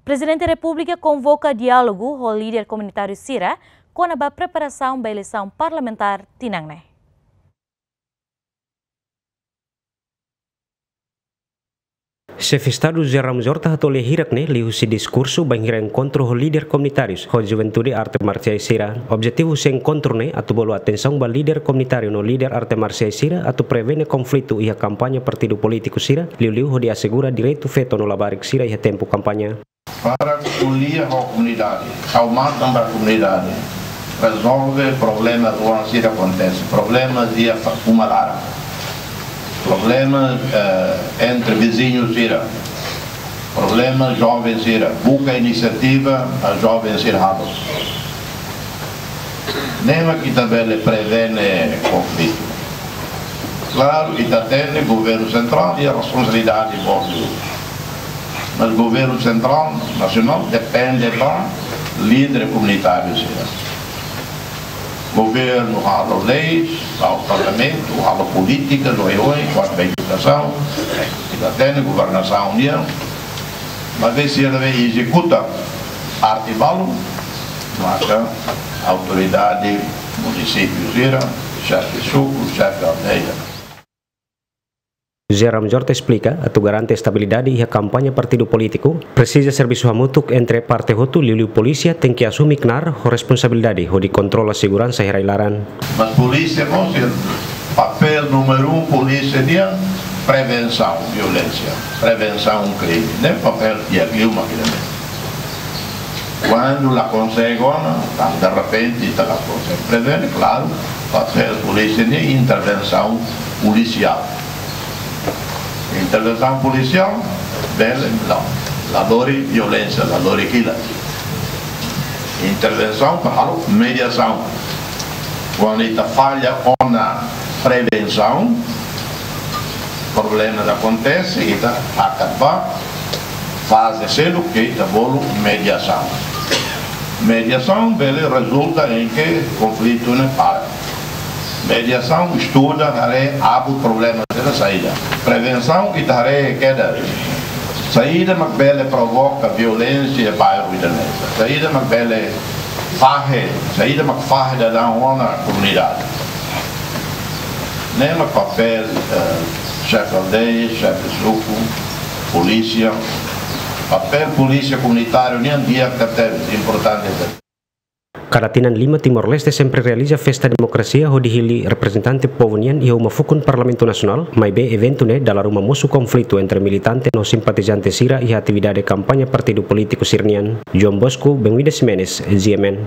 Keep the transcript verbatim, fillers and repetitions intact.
Prezidente Repúblika konvoka diálogu ho líder komunitáriu sira kona-ba preparasaun ba eleisaun parlamentár tinan ne'e. Xefe Estadu José Ramos Horta hato'o lia hirak-ne'e liuhusi diskursu bainhira enkontru ho líder komunitárius ho juventude arte marsiais sira. Objetivu husi enkontru ne'e atu bolu atensaun ba líder komunitáriu no líder arte marsiais sira atu prevene konflitu iha kampaña partidu polítiku sira, liuliu hodi asegura direitu feto no labarik sira iha tempu kampaña. Para ko'alia ho komunidade, ha'u matan ba komunidade, rezolve problema rua sira akontese, problema iha uma laran, problema, eh, entre viziñu sira, problema joven sira, buka inisiativa ba joven sira halo. Ne'e mak ita bele prevene konflitu. Klaru, ita hatene governu sentrál iha responsabilidade boot liu. Mas governu sentrál, nasionál, depende ba líder komunitáriu sira. Governu halo leis, halo parlamentu, halo polítika, oioin, kuantu ba edukasaun, ita hatene governasaun nian, maibé sira ne'ebé ezekuta parte balun, maka autoridade munisípiu sira, xefe suku, xefe aldeia. José Ramos Horta esplika, atu garante estabilidade iha kampaña partidu polítiku, presiza servisu hamutuk entre parte hotu, liuliu polísia tenke asume knaar ho responsabilidade hodi kontrola seguransa iha rai-laran. Mas polísia mós, papél númeru um polísia nian, prevensaun violénsia, prevensaun krime. Ne'e papél di'ak liu mak ida-ne'e. Kuandu la konsege ona, tan derrepente ita la konsege prevene, klaru, papél polísia nian intervensaun polisiál. Intervensaun polisiál, bele, la, la lori violénsia, la lori kilat. Intervensaun para halo mediasaun. Kuandu ita falla ona prevensaun, problema akontese, ita hakat ba faze seluk ke ita bolu mediasaun. Mediasaun bele rezulta em que konflitu ne'e para. Mediasaun estuda, haree abut problema sira saida. Prevensaun ita haree kedas saida mak bele provoka violénsia iha bairru ida-ne'e. Saida mak bele fahe, saida mak fahe daudaun ona komunidade. Ne'e mak papél, eh, xefe aldeia, xefe suku, polísia. Papél polísia komunitáriu nian di'ak tebes, importante tebes. Kada tinan lima Timor-Leste sempre realiza festa demokrasia hodi hili reprezentante povu nian iha uma fukun Parlamentu Nasionál, maibé eventu ne'e dala ruma mosu konflitu entre militante no simpatizante sira iha atividade kampaña partidu polítiku sira-nian. João Bosco, Benguida Ximenes, G M N.